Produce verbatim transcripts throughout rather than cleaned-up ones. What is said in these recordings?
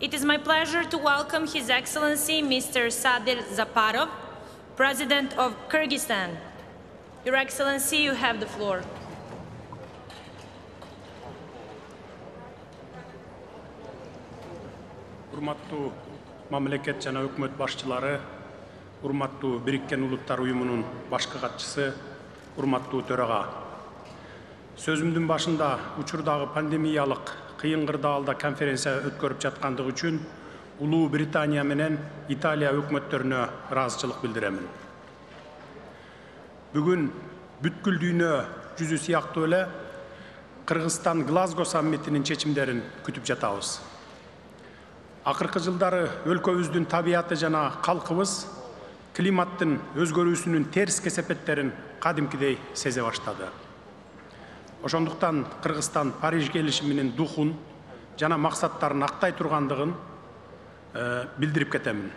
It is my pleasure to welcome His Excellency Mister Sadir Zaparov, President of Kyrgyzstan. Your Excellency, you have the floor. Урматтуу мамлекет жана өкмөт башчылары, урматтуу Бириккен Улуттар уюмунун башкы катчысы, урматтуу төрага. Сөзүмдүн башында учурдагы пандемиялык кыйын кырдаалда конференция өткөрүп жаткандыгы үчүн Улуу Британия менен Италия өкмөттөрүнө ыраазычылык билдиремин. Бүгүн бүткүл дүйнө жүзү сыяктуу эле Кыргызстан Глазго саммитинин чечимдерин күтүп жатабыз. Акыркы жылдары өлкөбүздүн табияты жана калкыбыз климаттын өзгөрүүсүнүн терс кесепеттерин кадимкидей сезе баштады. Ошондуктан Кыргызстан Париж келишиминин духун жана максаттарын актай тургандыгын э, билдирип кетемин.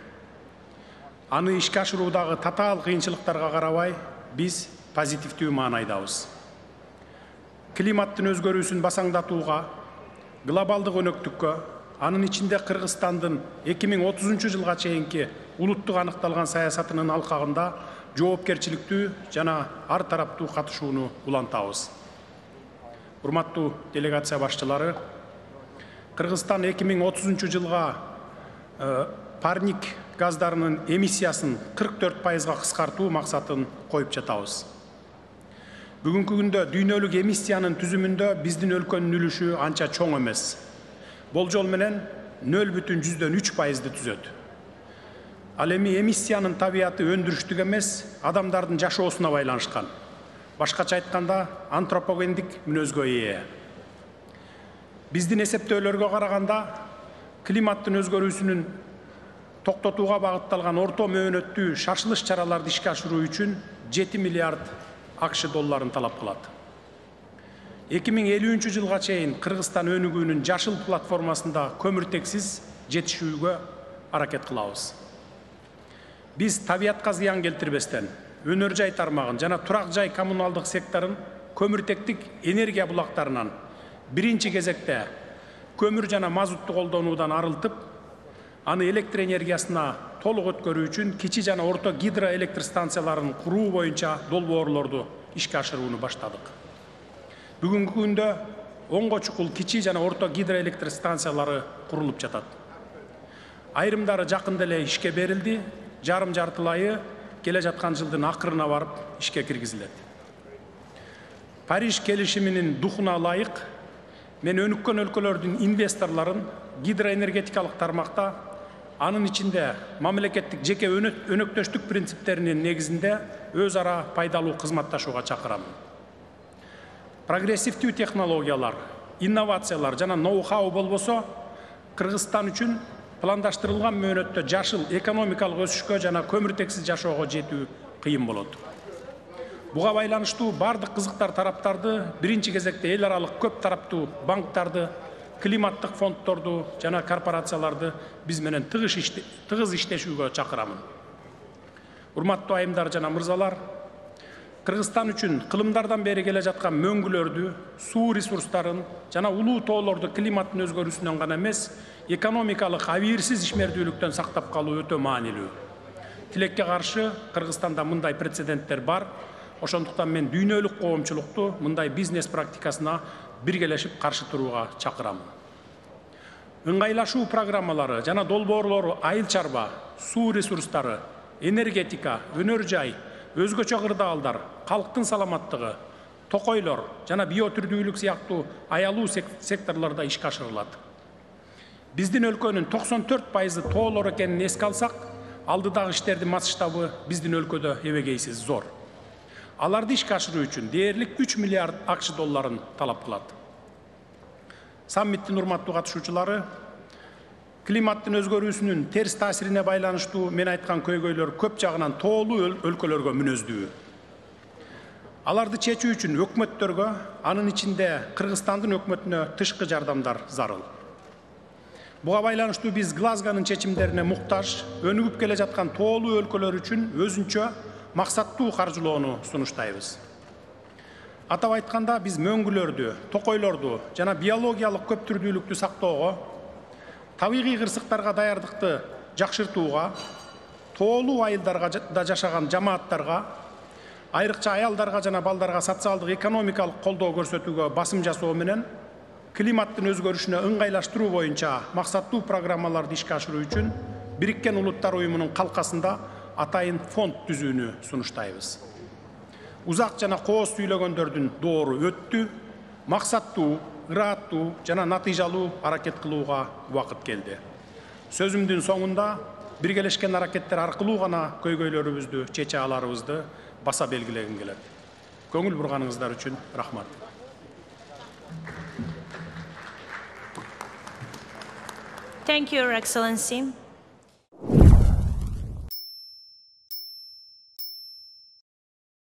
Аны ишке ашыруудагы татаал кыйынчылыктарга карабай, биз позитивдүү маанайдабыз. Климаттын өзгөрүүсүн басаңдатууга, глобалдык өнөктүккө, анын ичинде Кыргызстандын эки миң отузунчу жылга чейинки улуттук аныкталган саясатынын алкагында жоопкерчиликтүү жана ар тараптуу катышууну улантабыз. Урматтуу делегация башчылары, Кыргызстан эки миң отузунчу жылга э, парник газдарынын эмиссиясын кырк төрт пайызга кыскартуу максатын коюп жатабыз. Бүгүнкү күндө дүйнөлүк эмиссиянын түзүмүндө биздин өлкөнүн үлүшү анча чоң эмес. Болжол менен нөл бүтүн жүздөн үч пайызды түзөт. Ал эми эмиссиянын табияты өндүрүштүк эмес, адамдардын жашоосуна байланышкан. Башкача айтканда, антропогендик мүнөзгө ээ. Биздин эсептөөлөргө караганда, климаттын өзгөрүүсүнүн токтотууга багытталган орто мөөнөттүү шашылыш чараларды ишке ашыруу үчүн жети миллиард АКШ долларын талап кылат. эки миң элүүнчү жылга чейин Кыргызстан өнүгүүнүн жашыл платформасында көмүртексиз жетишүүгө аракет кылабыз. Биз табиятка зыян келтирбестен, өнөр жай тармагын жана турак жай коммуналдык секторун көмүртектик энергия булактарынан биринчи кезекте көмүр жана мазутты колдонуудан арылтып, аны электр энергиясына толук өткөрүү үчүн кичи жана орто гидроэлектр станцияларын куруу боюнча долбоорлорду ишке ашырууну баштадык. Бүгүнкү күндө онго чукул кичи жана орто гидроэлектр станциялары курулуп жатат. Айрымдары жакында эле ишке берилди, жарым жартылайы келе жаткан жылдын акырына барып ишке киргизилет. Париж келишиминин духуна ылайык, мен өнүккөн өлкөлөрдүн инвесторлорун гидроэнергетикалык тармакта, анын ичинде мамлекеттик жеке өнөктөштүк принциптеринин негизинде өз ара пайдалуу кызматташууга чакырамын. Прогрессивдүү технологиялар, инновациялар жана ноу-хау болбосо, Кыргызстан үчүн пландаштырылган мөөнөттө жашыл экономикалык өсүшкө жана көмүртексиз жашоого жетүү кыйын болот. Буга байланыштуу бардык кызыктар тараптарды биринчи кезекте эл аралык көп тараптуу банктарды, климаттык фонддорду жана корпорацияларды биз менен тыгыз иштешүүгө чакырамын. Урматтуу айымдар жана мырзалар, Кыргызстан үчүн кылымдардан бери келе жаткан мөңгүлөрдү, суу ресурстарын жана улуу тоолорду климаттын өзгөрүүсүнөн гана эмес, экономикалык абийирсиз ишмердүүлүктөн сактап калуу өтө маанилүү. Тилекке каршы Кыргызстанда мындай прецеденттер бар. Ошондуктан мен дүйнөлүк коомчулукту мындай бизнес практикасына биргелешип каршы турууга чакырамын. Ыңгайлашуу программалары жана долбоорлору айыл чарба, суу ресурстары, энергетика, өнөр жай, өзгөчө кырдаалдар, калктын саламаттыгы, токойлор жана биотүрдүүлүк сыяктуу аялуу секторлордо ишке ашырылат. Биздин өлкөнүн токсон төрт пайызы тоолор экенин эске алсак, алдыдагы иштердин масштабы биздин өлкөдө эбегейсиз зор. Аларды ишке ашыруу үчүн дээрлик үч миллиард АКШ долларын талап кылат. Саммиттин урматтуу катышуучулары, климаттын өзгөрүүсүнүн терс таасирине байланыштуу мен айткан көйгөйлөр көп жагынан тоолуу өлкөлөргө мүнөздүү. Аларды чечүү үчүн өкмөттөргө, анын ичинде Кыргызстандын өкмөтүнө тышкы жардамдар зарыл. Буга байланыштуу биз Глазгонун чечимдерине муктаж, өнүгүп келе жаткан тоолуу өлкөлөр үчүн өзүнчө максаттуу каржылоону сунуштайбыз. Атап айтканда, биз мөңгүлөрдү, токойлорду жана биологиялык көптүрдүүлүктү сактоого, табигый кырсыктарга даярдыкты жакшыртууга, тоолуу айылдарга да жашаган жамааттарга, айрыкча аялдарга жана балдарга социалдык экономикалык колдоо көрсөтүүгө басым жасоо менен климаттын өзгөрүшүнө ыңгайлаштыруу боюнча максаттуу программаларды ишке ашыруу үчүн Бириккен Улуттар Уюмунун калкасында атайын фонд түзүүнү сунуштайбыз. Узак жана кооз сүйлөгөндөрдүн доору өттү, максаттуу, ырааттуу жана натыйжалуу аракет кылууга убакыт келди. Сөзүмдүн соңунда биргелешкен аракеттер аркылуу гана көйгөйлөрүбүздү чече аларыбызды баса белгилегим келет. Көңүл бурганыңыздар үчүн рахмат. Thank you, Your Excellency.